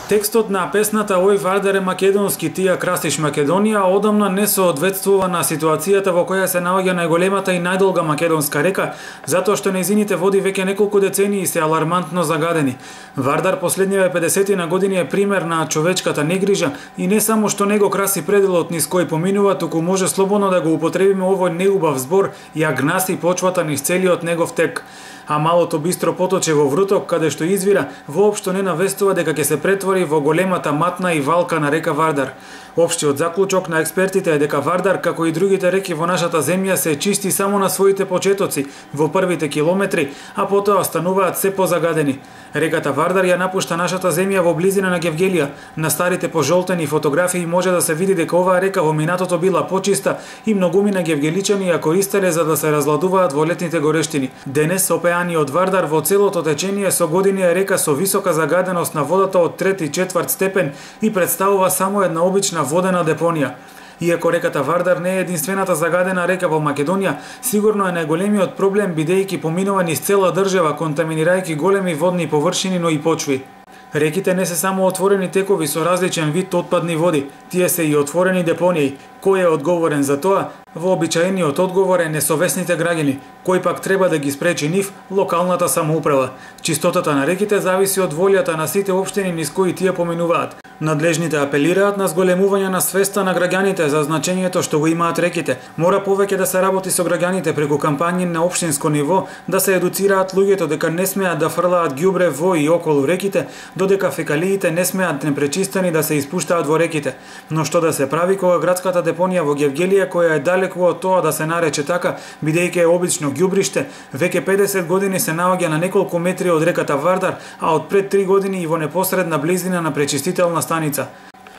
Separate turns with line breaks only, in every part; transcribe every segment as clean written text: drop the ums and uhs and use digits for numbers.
Текстот на песната "Ој Вардар е македонски, тија крастиш Македонија" одамна не соодветствува на ситуацијата во која се наоѓа најголемата и најдолга македонска река, затоа што нејзините води веќе неколку децении се алармантно загадени. Вардар последниве 50 на години е пример на човечката негрижа и не само што не го краси пределот низ кој поминува, туку може слободно да го употребиме овој неубав збор и ја гнаси почвата низ целиот негов тек. А малото бистро поточе во вруток, каде што извира, воопшто не навестува дека ќе се претвори во големата матна и валка на река Вардар. Општиот заклучок на експертите е дека Вардар, како и другите реки во нашата земја, се чисти само на своите почетоци, во првите километри, а потоа стануваат се позагадени. Реката Вардар ја напушта нашата земја во близина на Гевгелија. На старите пожолтени фотографии може да се види дека оваа река во минатото била почиста и многумина гевгеличани ја користеле за да се разладуваат во летните горештини. Денес опеаниот Вардар во целото течение со години е река со висока загаденост на водата од 3-4 степен и представува само една обична водена депонија. Иако реката Вардар не е единствената загадена река во Македонија, сигурно е најголемиот проблем бидејќи поминува низ цела држава, контаминирајќи големи водни површини, но и почви. Реките не се само отворени текови со различен вид отпадни води, тие се и отворени депонии. Кој е одговорен за тоа? Вообичаениот одговор е несовесните граѓани, кој пак треба да ги спречи нив, локалната самоуправа. Чистотата на реките зависи од волјата на сите општини низ кои тие поминуваат. Надлежните апелираат на зголемување на свеста на граѓаните за значењето што го имаат реките. Мора повеќе да се работи со граѓаните преку кампањи на општинско ниво, да се едуцираат луѓето дека не смеат да фрлаат ѓубре во и околу реките, додека фекалиите не смеат непречистени да се испуштаат во реките. Но што да се прави кога градската депонија во Гевгелија, која е далеку од тоа да се нарече така, бидејќи е обично ѓубриште, веќе 50 години се наоѓа на неколку метри од реката Вардар, а од пред 3 години и во непосредна близина на пречистителна станица.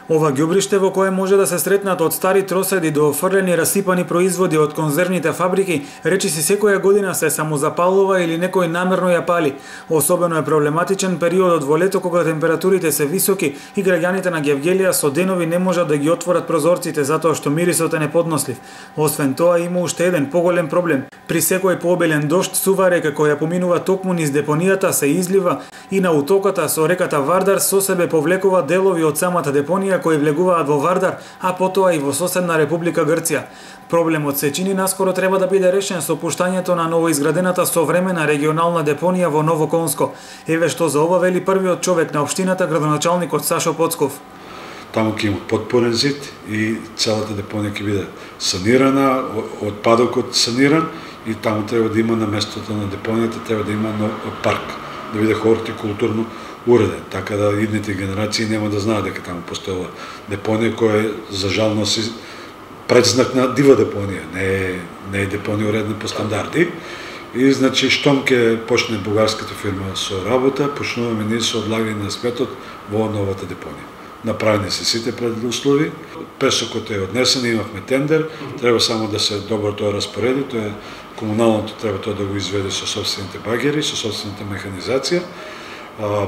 Ова ѓубриште во кое може да се сретнат од стари троседи до офрлени расипани производи од конзервните фабрики, речиси секоја година се самозапалува или некој намерно ја пали. Особено е проблематичен периодот во лето кога температурите се високи и граѓаните на Гевгелија со денови не можат да ги отворат прозорците затоа што мирисот е неподнослив. Освен тоа има уште еден поголем проблем. При секој пообилен дожд сува река која поминува токму низ депонијата се излива и на утоката со реката Вардар со себе повлекува делови од самата депонија кои влегуваат во Вардар, а потоа и во соседна Република Грција. Проблемот се чини наскоро треба да биде решен со пуштањето на новоизградената современа регионална депонија во Новоконско. Еве што за ова вели првиот човек на општината, градоначалникот Сашо Поцков.
Таму ќе има потпорен зид и целата депонија ќе биде санирана, отпадокот саниран и таму треба да има на местото на депонијата треба да има парк, да биде хортикултурно уреден, така да идните генерации нема да знаат дека таму постоела депонија која за жал носи предзнак на дива депонија, не е депонија уредена по стандарди. И значи штом ќе почне бугарската фирма со работа, почнуваме ние со одлагање на сметот во новата депонија. Направени се сите предуслови, песокот е однесен, имавме тендер, треба само да се добро тоа распореди, тоа е комуналното треба тоа да го изведе со собствените багери, со собствената механизација.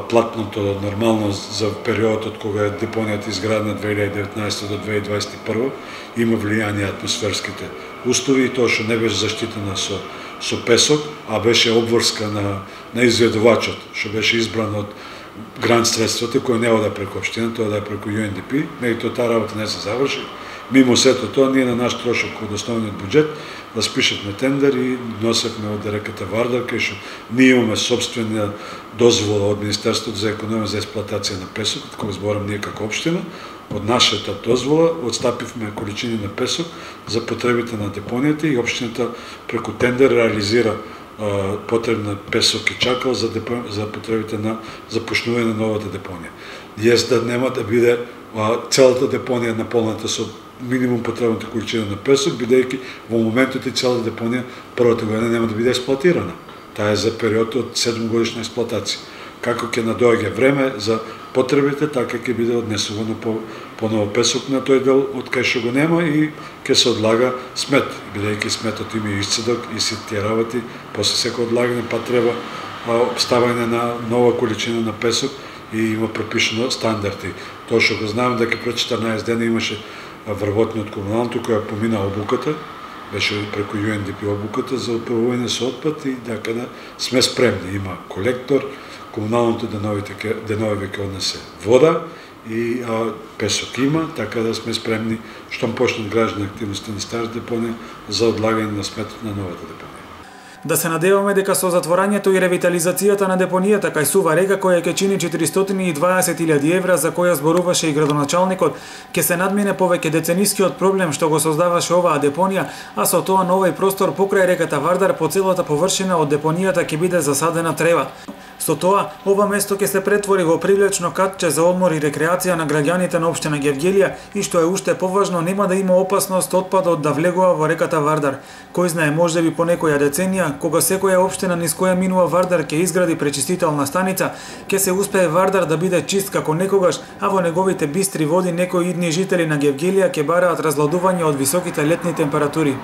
Платното нормално за периодот кога е депонијата изградена 2019 до 2021 има влијание атмосферските услови и тоа што не беше заштитена со песок, а беше обврска на изведувачот, што беше избран од грант средствата кој не ода преку општина, тоа да е преку UNDP, меѓутоа таа работа не се заврши. Мимо сето тоа, ние на наш трошок од основниот буџет распишавме тендер и носевме од реката Вардар, кај што ние имаме собствена дозвола од Министерството за економија за експлоатација на песок, кога зборам ние како општина, од нашата дозвола отстапивме количини на песок за потребите на депонијата и општината преку тендер реализира потребна песок и чакал за потребите на започнување на новата депонија. Јес да нема да биде целата депонија наполната со минимум потребната количина на песок, бидејќи во моментот и целата депонија првата година нема да биде експлоатирана. Таа е за период од 7 годишна експлоатација. Како ќе надоаѓа време за потребите, така ќе биде однесувано поново песок на тој дел од кај што го нема и ќе се одлага смет, бидејќи сметот има и исцедок и сите тие работи, после секој одлагање па треба ставање на нова количина на песок и има пропишано стандарди. Тоа што го знам дека пред 14 дена имаше вработни од комуналното која помина обуката беше преку UNDP обуката за управување со отпад и да сме спремни. Има колектор, комуналното денови веќе однесе вода и песок има, така да сме спремни штом почнат граждани активности на старата депонија за одлагање на сметот на новата депонија.
Да се надеваме дека со затворањето и ревитализацијата на депонијата кај Сува река, која ќе чини 420.000 евра, за која зборуваше и градоначалникот, ќе се надмине повеќе деценискиот проблем што го создаваше оваа депонија, а со тоа на овој простор покрај реката Вардар по целата површина од депонијата ќе биде засадена трева. Со тоа, ова место ќе се претвори во привлечно катче за одмор и рекреација на граѓаните на општина Гевгелија и што е уште поважно, нема да има опасност отпадот да влегува во реката Вардар. Кој знае, можеби по некоја деценија, кога секоја општина низ која минува Вардар ќе изгради пречистителна станица, ќе се успее Вардар да биде чист како некогаш, а во неговите бистри води некои идни жители на Гевгелија ќе бараат разладување од високите летни температури.